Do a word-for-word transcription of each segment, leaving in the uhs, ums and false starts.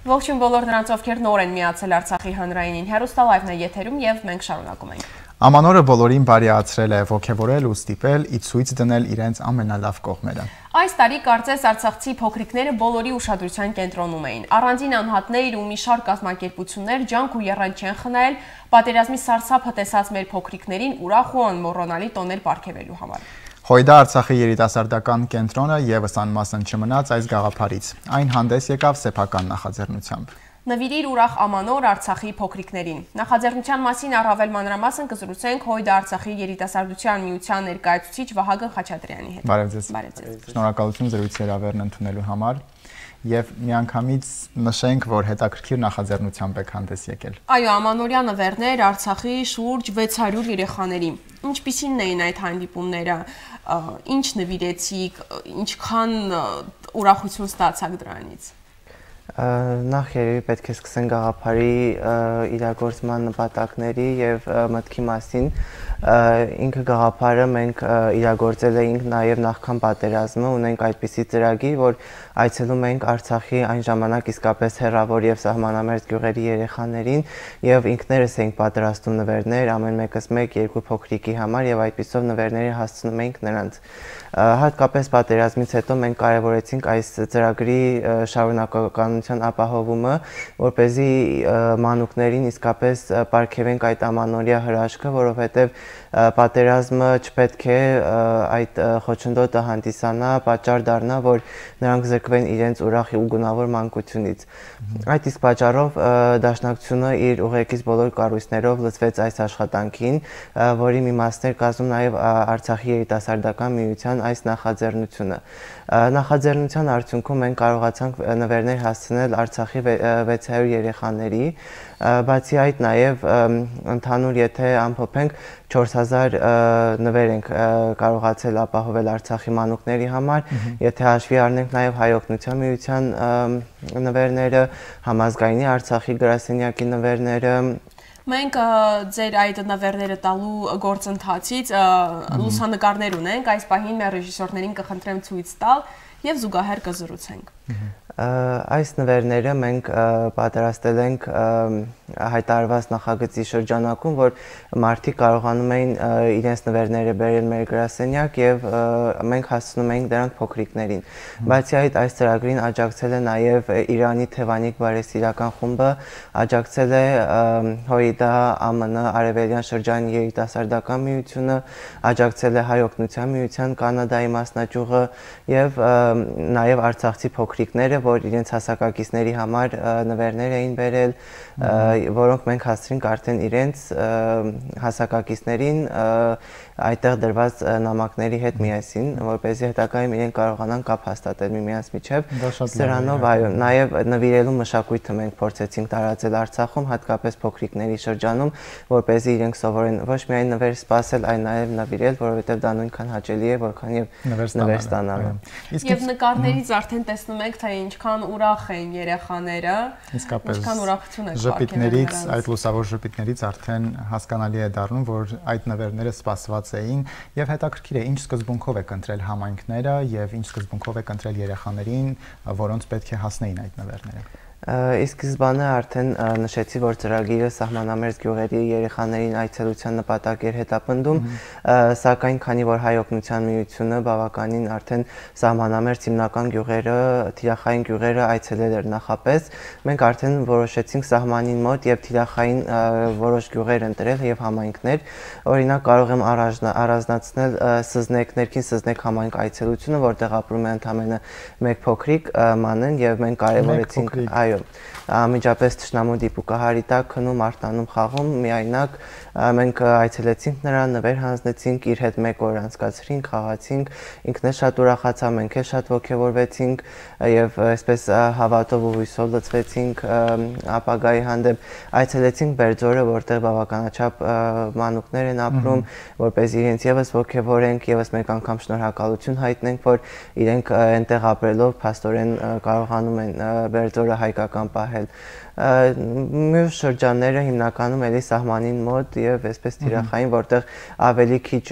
Ողջույն բոլոր նրանց, ովքեր նոր են միացել Արցախի հանրայինին, հեռուստալայվն է եթերում եւ մենք շարունակում ենք։ Ամանորը բոլորին բարիացրել է, ոգևորել ու ստիպել ի ցույց դնել իրենց ամենալավ կողմերը։ Այս տարի կարծես արցախցի փոքրիկները բոլորի ուշադրության կենտրոնում էին։ Առանձին անհատներ ու մի շարք կազմակերպություններ ջանք ու եռանդ չեն խնայել պատերազմի սարսափը տեսած մեր փոքրիկներին ուրախ ու անմոռանալի տոներ պարգևելու համար։ Հույդա Արցախի երիտասարդական կենտրոնը եւս անմասն չմնաց այս գաղափարից։ Այն հանդես եկավ սեփական նախաձեռնությամբ։ Նվիրիր ուրախ ամանոր Արցախի փոքրիկներին։ Նախաձեռնության մասին առավել մանրամասն կզրուցենք Հույդա Արցախի երիտասարդության միության ներկայացուցիչ Վահագն Խաչատրյանի հետ։ Բարև ձեզ։ Շնորհակալություն զրույցի հրավերն ընդունելու համար։ Եվ միանգամից նշենք, որ հետաքրքիր նախաձեռնությամբ եք հանդես եկել։ Այո, ամանորյա նվերներ Արցախի շուրջ վեց հարյուր երեխաների։ Ինչպիսին էին այդ հանդիպումները, ինչ նվիրեցիք, ինչքան ուրախություն ստացաք դրանից։ Նախ երևի պետք է սկսենք գաղափարի իրագործման նպատակների եւ մտքի մասին։ Ինքը գաղափարը մենք իրագործել էինք նաեւ նախքան պատերազմը, ունենք այդպիսի ծրագիր, որ այցելում ենք Արցախի այն ժամանակ իսկապես հեռավոր եւ սահմանամերձ գյուղերի երեխաներին եւ ինքներս էինք պատրաստում նվերներ, ամեն մեկս մեկ երկու փոքրիկի համար եւ այդպիսով նվերները հասցնում էինք նրանց։ Հատկապես պատերազմից հետո մենք կարևորեցինք այս ծրագրի շարունակականության ապահովումը, որպեսզի մանուկներին իսկապես պարգևենք այդ ամանորյա հրաշքը, որովհետև պատերազմը չպետք է այդ խոչընդոտը հանդիսանա, պատճառ դառնա, որ նրանք զրկվեն իրենց ուրախ ու գունավոր մանկությունից։ Այդ իսկ պատճառով Դաշնակցությունը իր ուղեկից բոլոր կառույցներով լծվեց այս աշխատանքին, որի մի մասն էր կազմում նաև Արցախի երիտասարդական միության այս նախաձեռնությունը։ Նախաձեռնության արդյունքում մենք կարողացանք նվերներ հասցնել Արցախի վեց հարյուր երեխաների, բացի այդ նաև ընդհանուր եթե ամփոփենք չորս հազար նվեր ենք կարողացել ապահովել Արցախի մանուկների համար, եթե հաշվի առնենք նաև Հայ օգնության միության նվերները, Համազգայինի Արցախի գրասենյակի նվերները։ Մենք ձեր այդ նվերները տալու գործընթացից լուսանկարներ ունենք, այս պահին մեր ռեժիսորներին կխնդրեմ ցույց տալ եւ զուգահեռ կզրուցենք։ Այս նվերները մենք պատրաստել ենք հայտարարված նախագծի շրջանակում, որ մարդիկ կարողանում էին իրենց նվերները բերել մեր գրասենյակ եւ մենք հասցնում էինք դրանք փոքրիկներին։ Բացի այդ, այս ծրագրին աջակցել է նաեւ Իրանի Թևանիկ բարեսիրական խումբը, աջակցել է Հույդա ԱՄՆ Արևելյան շրջանի երիտասարդական միությունը, աջակցել է Հայ օգնության միության Կանադայի մասնաճյուղը եւ նաեւ արցախցի փոքրիկները, որ իրենց հասակակիցների համար նվերներ էին բերել, որոնք մենք հասցրինք արդեն իրենց հասակակիցներին այդտեղ դրված նամակների հետ միասին, որպեսզի հետագայում իրենք կարողանան կապ հաստատել միմյանց միջև։ Սրանով այո, նաև նվիրելու մշակույթը մենք փորձեցինք տարածել Արցախում, հատկապես փոքրիկների շրջանում, որպեսզի իրենք սովորեն ոչ միայն նվեր սպասել, այլ նաև նվիրել, որովհետև դա նույնքան հաճելի է, որքան եւ նվեր ստանալը։ Եվ նկարներից արդեն տեսնում եք, թե ինչքան ուրախ են երեխաները, ինչքան ուրախություն է ժպիտներից, այդ լուսավոր ժպիտներից արդեն հասկանալի է դառնում, որ այդ նվերները սպասված էին եւ հետաքրքիր է ինչ սկզբունքով եք ընտրել համայնքները եւ ինչ սկզբունքով եք ընտրել երեխաներին, որոնց պետք է հասնեին այդ նվերները։ Ի սկզբանե արդեն նշեցի, որ ծրագիրը սահմանամերձ գյուղերի երեխաներին այցելության նպատակ էր հետապնդում, սակայն քանի որ Հայ օգնության միությունը բավականին արդեն սահմանամերձ հիմնական գյուղերը, թիրախային գյուղերը այցելել էր նախապես, մենք արդեն որոշեցինք սահմանին մոտ եւ թիրախային որոշ գյուղեր ընտրել եւ համայնքներ, օրինակ կարող եմ առանձնացնել Սզնեք, ներքին Սզնեք համայնք այցելությունը, որտեղ ապրում է ընդամենը մեկ փոքրիկ մանեն եւ մենք կարևորեցինք այո Ամիջապես թշնամու դիպուկահարի տակ քնում, արտանում, խաղում, միայնակ մենք այցելեցինք նրան, նվեր հանձնեցինք, իր հետ մեկ օր անցկացրինք, խաղացինք, ինքն էլ շատ ուրախացավ, մենք էլ շատ ոգևորվեցինք եւ այսպես հավատով ու հույսով լցվեցինք ապագայի հանդեպ, այցելեցինք Բերձորը, որտեղ բավականաչափ մանուկներ են ապրում, որպես իրենց եւս ոգևորենք, եւս մեկ անգամ շնորհակալություն հայտնենք, որ իրենք այնտեղ ապրելով փաստորեն կարողանում են Բերձորը հայկական պահել։ Մյուս շրջանները հիմնականում էլի սահմանին մոտ եւ այսպես թիրախային, որտեղ ավելի քիչ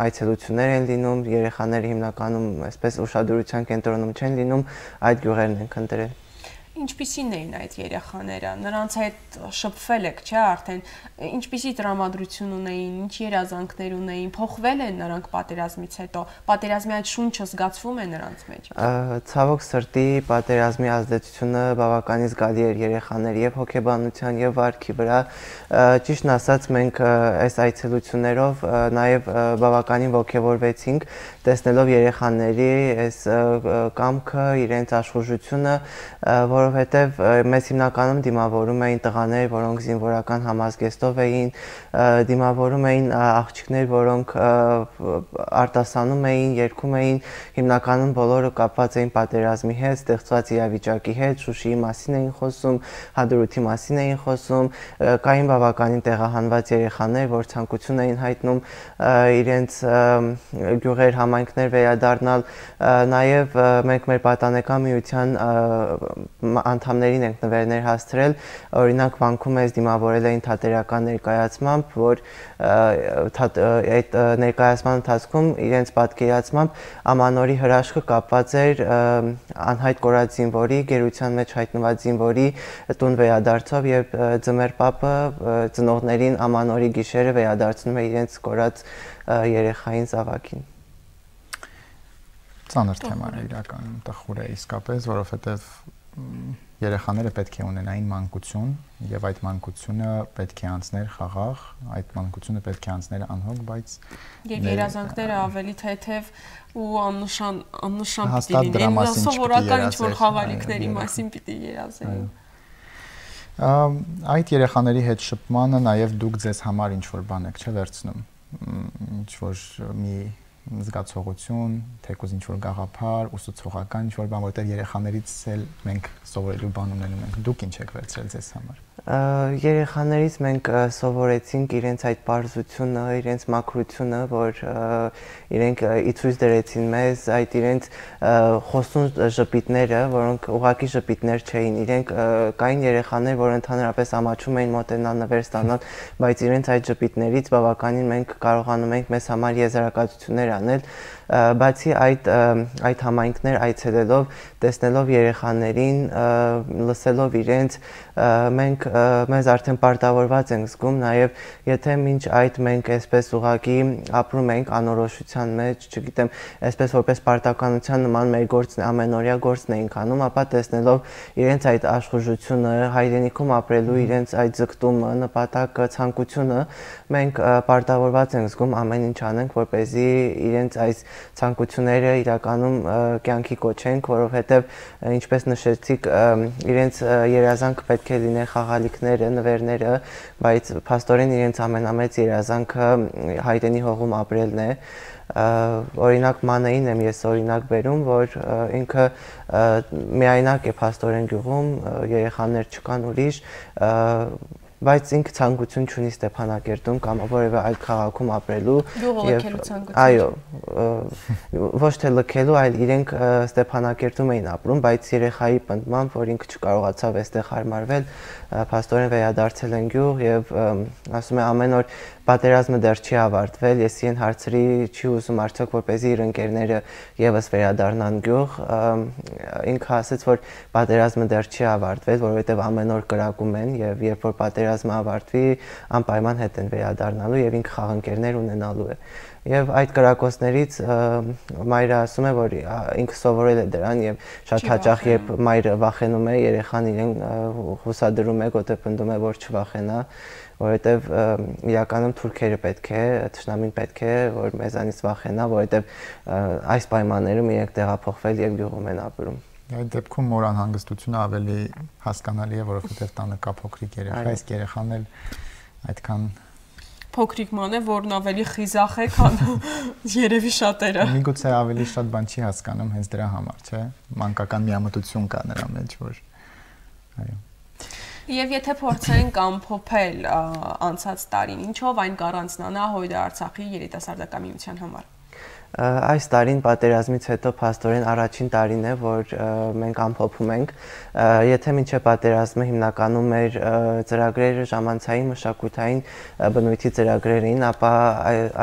այցելություններ են լինում, երեխաները հիմնականում այսպես ուշադրության կենտրոնում չեն լինում, այդ գյուղերն են ընտրել։ Ինչպիսին էին այդ երեխաները, նրանց հետ շփվել եք, չէ՞, արդեն ինչպիսի տրամադրություն ունեին, ինչ երազանքներ ունեին, փոխվել են նրանք պատերազմից հետո, պատերազմի այդ շունչը զգացվում է նրանց մեջ։ Ցավոք սրտի պատերազմի ազդեցությունը բավականին զգալի էր երեխաների եւ հոգեբանության եւ վարքի վրա։ Ճիշտն ասած, մենք այս այցելություններով նաեւ բավականին ողջավորվեցինք, տեսնելով երեխաների այս կամքը, իրենց աշխուժությունը, որովհետև մեզ հիմնականում դիմավորում էին տղաներ, որոնք զինվորական համազգեստով էին, դիմավորում էին աղջիկներ, որոնք արտասանում էին, երգում էին, հիմնականում բոլորը կապված էին պատերազմի հետ, ստեղծված իրավիճակի հետ, Շուշիի մասին էին խոսում, Հադրութի մասին էին խոսում, կային բավականին տեղահանված երեխաներ, որ ցանկություն էին հայտնում իրենց գյուղեր, համայնքներ վերադառնալ, նաև մենք մեր պատանեկան միության անդամներին ենք նվերներ հասցրել, օրինակ Վանքում մեզ դիմավորել էին թատերական ներկայացմամբ, որ այդ ներկայացման ընթացքում իրենց պատկերացմամբ Ամանորի հրաշքը կապված էր անհայտ կորած զինվորի, գերության մեջ հայտնված զինվորի տուն վերադարձով եւ Ձմեռ պապը ծնողներին Ամանորի գիշերը վերադարձնում է իրենց կորած երեխային զավակին։ Ծանր թեմա է իրականում, տխուր է իսկապես, որովհետև երեխաները պետք է ունենային մանկություն եւ այդ մանկությունը պետք է անցներ խաղաղ, այդ մանկությունը պետք է անցներ անհոգ, բայց եւ երազանքները ավելի թեթև ու աննշան աննշան պիտի լինեն, սովորական ինչ որ խաղալիքների մասին պիտի երազեին։ Այդ երեխաների հետ շփմանը նաեւ դուք ձեզ համար ինչ որ բան եք, չէ՞ վերցնում, ինչ որ մի զգացողություն, թեկուզ ինչ որ գաղափար, ուսուցողական ինչ որ բան, որտեղ երեխաներից էլ մենք սովորելու բան ունենում ենք։ Դուք ինչ եք վերցրել ձեզ համար։ Երեխաներից մենք սովորեցինք իրենց այդ պարզությունը, իրենց մաքրությունը, որ իրենք իցույց դրեցին մեզ, այդ իրենց խոսուն ժպիտները, որոնք ուղղակի ժպիտներ չէին, իրենք կային երեխաներ, որ ընդհանրապես ամաչում էին մոտենալ նվեր ստանալ, բայց իրենց այդ ժպիտներից բավականին մենք կարողանում ենք մեզ համար եզրակացություններ անել, բացի այդ այդ համայնքներ այցելելով, տեսնելով երեխաներին, լսելով իրենց, մենք մեզ արդեն պարտավորված ենք զգում, նաև եթե մինչ այդ մենք այսպես ուղղակի ապրում ենք անորոշության մեջ, չգիտեմ, այսպես որպես պարտականության նման մեր գործն ամենօրյա գործն էինք անում, ապա տեսնելով իրենց այդ աշխուժությունը, հայրենիքում ապրելու իրենց այդ ձգտումը, նպատակը, ցանկությունը, մենք պարտավորված ենք զգում ամեն ինչ անենք, որպեսզի իրենց այս ցանկությունները իրականում կյանքի կոչենք, որովհետև ինչպես նշեցիք, իրենց երազանքը պետք է լիներ խաղալիքները, նվերները, բայց փաստորեն իրենց ամենամեծ երազանքը հայրենի հողում ապրելն է։ Օրինակ Մանեին եմ ես օրինակ բերում, որ ինքը միայնակ է փաստորեն գյուղում, երեխաներ չկան ուրիշ, բայց ինքը ցանկություն չունի Ստեփանակերտում կամ որևէ այլ քաղաքում ապրելու եւ այո, ոչ թե լքելու, այլ իրենք Ստեփանակերտում էին ապրում, բայց երեխայի պնդմամբ, որ ինքը չկարողացավ այստեղ հարմարվել, փաստորեն վերադարձել են գյուղ եւ ասում է ամեն օր պատերազմը դեռ չի ավարտվել, ես իրեն հարցրի, չի ուզում արդյոք որպեսզի իր ընկերները եւս վերադառնան գյուղ, ինքը ասաց, որ պատերազմը դեռ չի ավարտվել, որովհետեւ ամեն օր կրակում են եւ երբ որ պատերազմը ավարտվի, անպայման հետ են վերադառնալու եւ ինքը խաղընկերներ ունենալու է։ Եվ այդ կրակոցներից մայրը ասում է, որ ինքը սովորել է դրան եւ շատ հաճախ երբ մայրը վախենում է, երեխան իրեն հուսադրում է, գոտեպնդում է, որ չվախենա, որովհետեւ իրականում թուրքերը պետք է, թշնամին պետք է, որ մեզանից վախենա, որովհետեւ այս պայմաններում իրենք տեղափոխվել եւ գյուղում են ապրում։ Այդ դեպքում մոր անհանգստությունը ավելի հասկանալի է, որովհետեւ տանը կա փոքրիկ երեխա, իսկ երեխան էլ այդքան փոքրիկ ման է, որն ավելի խիզախ է, քան երևի շատերը։ Միգուցե ավելի շատ բան չի հասկանում հենց դրա համար, չէ՞։ Մանկական միամտություն կա նրա մեջ, որ այո։ Եվ եթե փորձենք ամփոփել անցած տարին, ինչով այն կառանձնանա Հույդեր Արցախի երիտասարդական միության համար։ Այս տարին պատերազմից հետո փաստորեն առաջին տարին է, որ մենք ամփոփում ենք։ Եթե մինչև պատերազմը հիմնականում մեր ծրագրերը ժամանցային մշակութային բնույթի ծրագրեր էին, ապա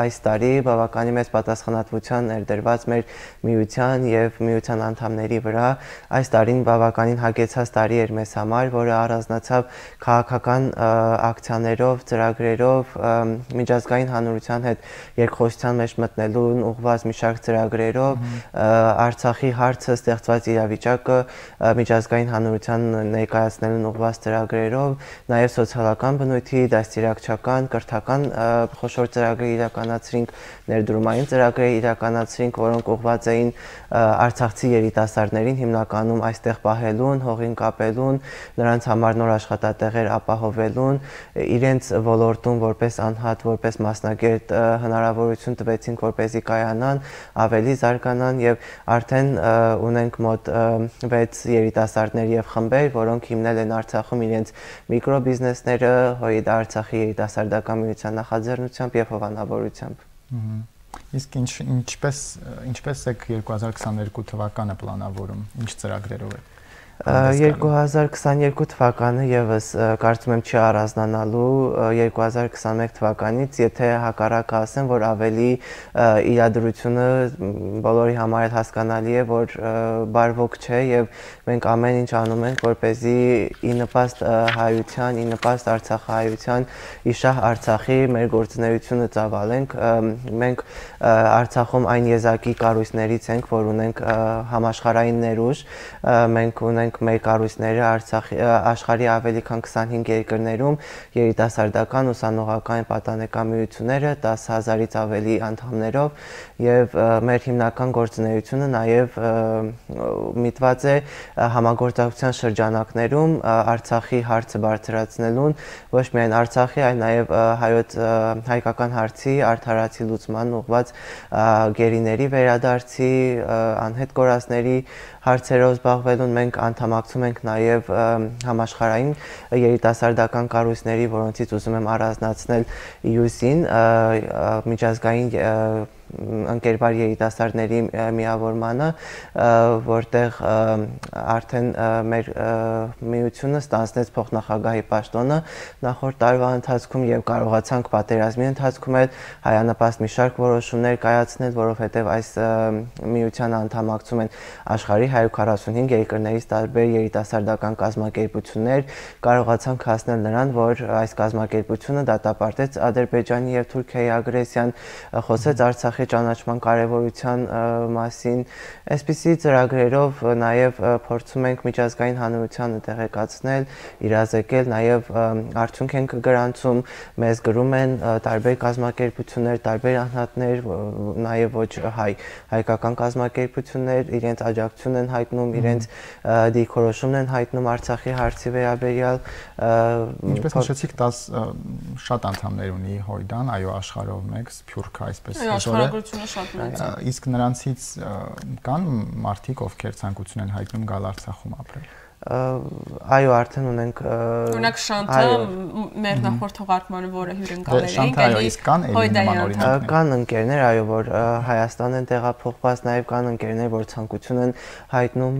այս տարի բավականին մեծ պատասխանատվության ներդրված մեր միության եւ միության անդամների վրա։ Այս տարին բավականին հագեցած տարի էր մեզ համար, որը առանձնացավ քաղաքական ակցիաներով, ծրագրերով, միջազգային հանրության հետ երկխոսության մեջ մտնելուն ուղղված մի շարք ծրագրերով, Արցախի հարցը ստեղծված իրավիճակը միջազգային հանրության ներկայացնելուն ուղղված ծրագրերով, նաև սոցիալական բնույթի, դաստիարակչական, կրթական խոշոր ծրագրեր իրականացրինք, ներդրումային ծրագրեր իրականացրինք, որոնք ուղղված էին արցախցի երիտասարդներին հիմնականում այստեղ պահելուն, հողին կապելուն, նրանց համար նոր աշխատատեղեր ապահովելուն, իրենց ոլորտում որպես անհատ, որպես մասնագետ հնարավորություն տվեցինք, որպեսզի կայանան, ավելի զարգանան եւ արդեն ունենք մոտ վեց երիտասարդներ եւ խմբեր, որոնք հիմնել են Արցախում իրենց միկրոբիզնեսները, Հույդ Արցախի երիտասարդական միության նախաձեռնությամբ եւ հովանավորությամբ։ Իսկ ինչ ինչպես ինչպես է երկու հազար քսաներկու թվականը պլանավորում, ինչ ծրագրերով է։ երկու հազար քսաներկու թվականը եւս կարծում եմ չի առանձնանալու երկու հազար քսաներկու թվականից, եթե հակառակը ասեմ, որ ավելի իրադրությունը բոլորի համար հասկանալի է, որ բարվոք չէ եւ մենք ամեն ինչ անում ենք, որպեսզի ի նպաստ հայության, ի նպաստ արցախահայության, իշահ Արցախի մեր գործունեությունը ծավալենք։ Մենք Արցախում այն եզակի կառույցներից ենք, որ ունենք համաշխարհային ներուժ, մենք ունենք մեր կառույցները Արցախի աշխարհի ավելի քան քսանհինգ երկրներում երիտասարդական ուսանողական պատանեկան միությունները տասը հազարից ավելի անդամներով եւ մեր հիմնական գործունեությունը նաեւ միտված է համագործակցության շրջանակներում Արցախի հարցը բարձրացնելուն, ոչ միայն Արցախի, այլ նաեւ հայոց հայկական հարցի արդարացի լուծման ուղղված գերիների վերադարձի, անհետ կորածների հարցերով զբաղվելուն մենք անդամակցում ենք նաև համաշխարհային երիտասարդական կառույցների, որոնցից ուզում եմ առանձնացնել յուսին, միջազգային ընկերբար երիտասարդների միավորմանը, որտեղ արդեն մեր միությունը ստանձնեց փոխնախագահի պաշտոնը նախորդ տարվա ընթացքում եւ կարողացանք պատերազմի ընթացքում էլ հայանպաստ մի շարք որոշումներ կայացնել, որովհետեւ այս միությանը անդամակցում են աշխարհի հարյուր քառասունհինգ երկրներից տարբեր երիտասարդական կազմակերպություններ, կարողացանք հասնել նրան, որ այս կազմակերպությունը դատապարտեց Ադրբեջանի եւ Թուրքիայի ագրեսիան, խոսեց Արցախի ճանաչման կարևորության մասին, այսպիսի ծրագրերով նաև փորձում ենք միջազգային հանրությանը տեղեկացնել, իրազեկել, նաև արդյունք ենք գրանցում, մեզ գրում են տարբեր կազմակերպություններ, տարբեր անհատներ, նաև ոչ հայ, հայկական կազմակերպություններ, իրենց աջակցություն են հայտնում, իրենց դիրքորոշումն են հայտնում Արցախի հարցի վերաբերյալ։ Ինչպես նշեցիք, տասը շատ անդամներ ունի Հույդան, այո, աշխարհով մեկ, Սփյուռքը այսպես է։ Իսկ նրանցից կան մարդիկ, ովքեր ցանկություն են հայտնում գալ Արցախում ապրել։ Այո, արդեն ունենք օրինակ Շանթը մեր նախորդ թողարկմանը, որը հյուրընկալել էինք, էլի կան էլի նման օրինակներ։ Կան ընկերներ, այո, որ Հայաստան են տեղափոխված, նաև կան ընկերներ, որ ցանկություն են հայտնում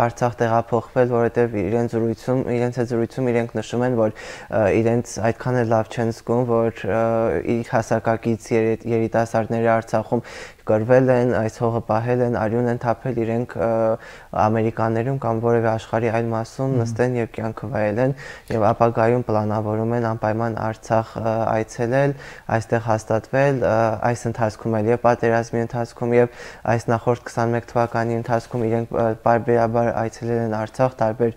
Արցախ տեղափոխվել, որովհետև իրենց զրույցում, իրենց հետ զրույցում իրենք նշում են, որ իրենց այդքան էլ լավ չեն զգում, որ իր հասակակից երիտասարդները Արցախում կրվել են, այս հողը պահել են, արյուն են թափել, իրենք ամերիկաներում կամ որևէ աշխարհի այլ մասում նստեն եւ կյանքը վայելեն եւ ապագայում պլանավորում են անպայման Արցախ այցելել, այստեղ հաստատվել, այս ընթացքում էլ եւ պատերազմի ընթացքում եւ այս նախորդ քսանմեկ թվականի ընթացքում իրենք բարբերաբար այցելել են Արցախ, տարբեր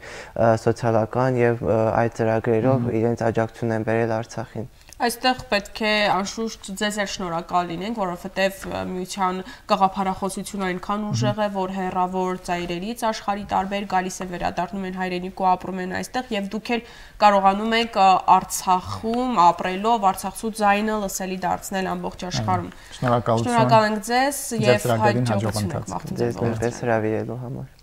սոցիալական եւ այլ ծրագրերով իրենց աջակցություն են բերել Արցախին։ Այստեղ պետք է անշուշտ ձեզ էլ շնորհակալ լինենք, որովհետև միության գաղափարախոսությունը այնքան ուժեղ է, որ հեռավոր ծայրերից աշխարհի տարբեր գալիս է վերադառնում են հայրենիք ու ապրում են այստեղ եւ դուք էլ կարողանում եք Արցախում ապրելով Արցախցու ձայնը լսելի դարձնել ամբողջ աշխարհում։ Շնորհակալություն։ Շնորհակալ ենք ձեզ եւ հաջողություն եք մաղթում ձեզ նույնպես հրավիրելու համար։